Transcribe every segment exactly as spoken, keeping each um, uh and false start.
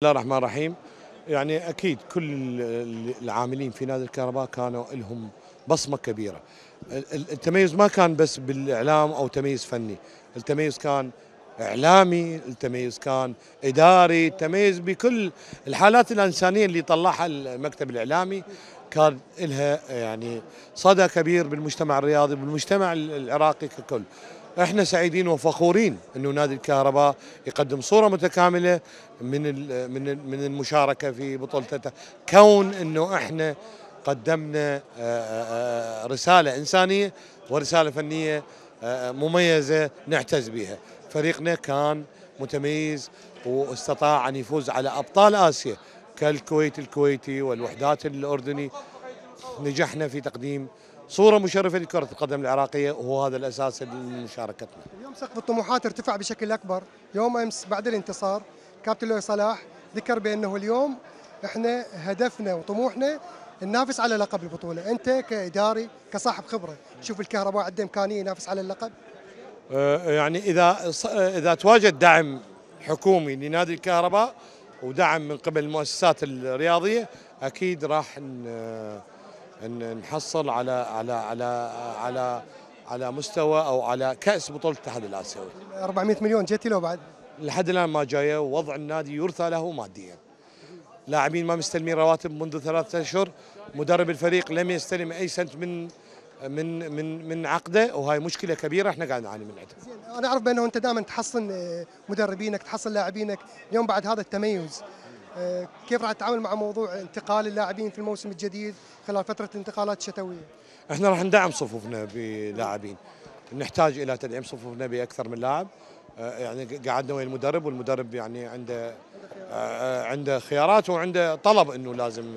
بسم الله الرحمن الرحيم. يعني اكيد كل العاملين في نادي الكهرباء كانوا لهم بصمه كبيره. التميز ما كان بس بالاعلام او تميز فني، التميز كان اعلامي، التميز كان اداري، التميز بكل الحالات الانسانيه اللي طلعها المكتب الاعلامي كان لها يعني صدى كبير بالمجتمع الرياضي بالمجتمع العراقي ككل. احنا سعيدين وفخورين انه نادي الكهرباء يقدم صوره متكامله من من من المشاركه في بطولته، كون انه احنا قدمنا رساله انسانيه ورساله فنيه مميزه نعتز بها. فريقنا كان متميز واستطاع ان يفوز على ابطال اسيا كالكويت الكويتي والوحدات الاردني. نجحنا في تقديم صورة مشرفة لكرة القدم العراقية وهو هذا الأساس لمشاركتنا. اليوم سقف الطموحات ارتفع بشكل أكبر. يوم أمس بعد الانتصار كابتن لؤي صلاح ذكر بأنه اليوم احنا هدفنا وطموحنا ننافس على لقب البطولة. أنت كإداري كصاحب خبرة شوف الكهرباء عنده إمكانية ينافس على اللقب؟ أه يعني إذا إذا تواجد دعم حكومي لنادي الكهرباء ودعم من قبل المؤسسات الرياضية أكيد راح ان نحصل على على على على على مستوى او على كاس بطوله الاتحاد الاسيوي. أربعمئة مليون جتي لو بعد؟ لحد الان ما جايه، ووضع النادي يرثى له ماديا. لاعبين ما مستلمين رواتب منذ ثلاثة اشهر، مدرب الفريق لم يستلم اي سنت من من من من عقده، وهاي مشكله كبيره احنا قاعد نعاني منها. زين، انا اعرف بانه انت دائما تحصن مدربينك، تحصن لاعبينك، اليوم بعد هذا التميز كيف راح تتعامل مع موضوع انتقال اللاعبين في الموسم الجديد خلال فتره الانتقالات الشتويه؟ احنا راح ندعم صفوفنا بلاعبين، نحتاج الى تدعيم صفوفنا باكثر من لاعب. يعني قعدنا ويا المدرب والمدرب يعني عنده عنده خيارات وعنده طلب انه لازم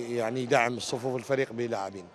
يعني يدعم صفوف الفريق بلاعبين.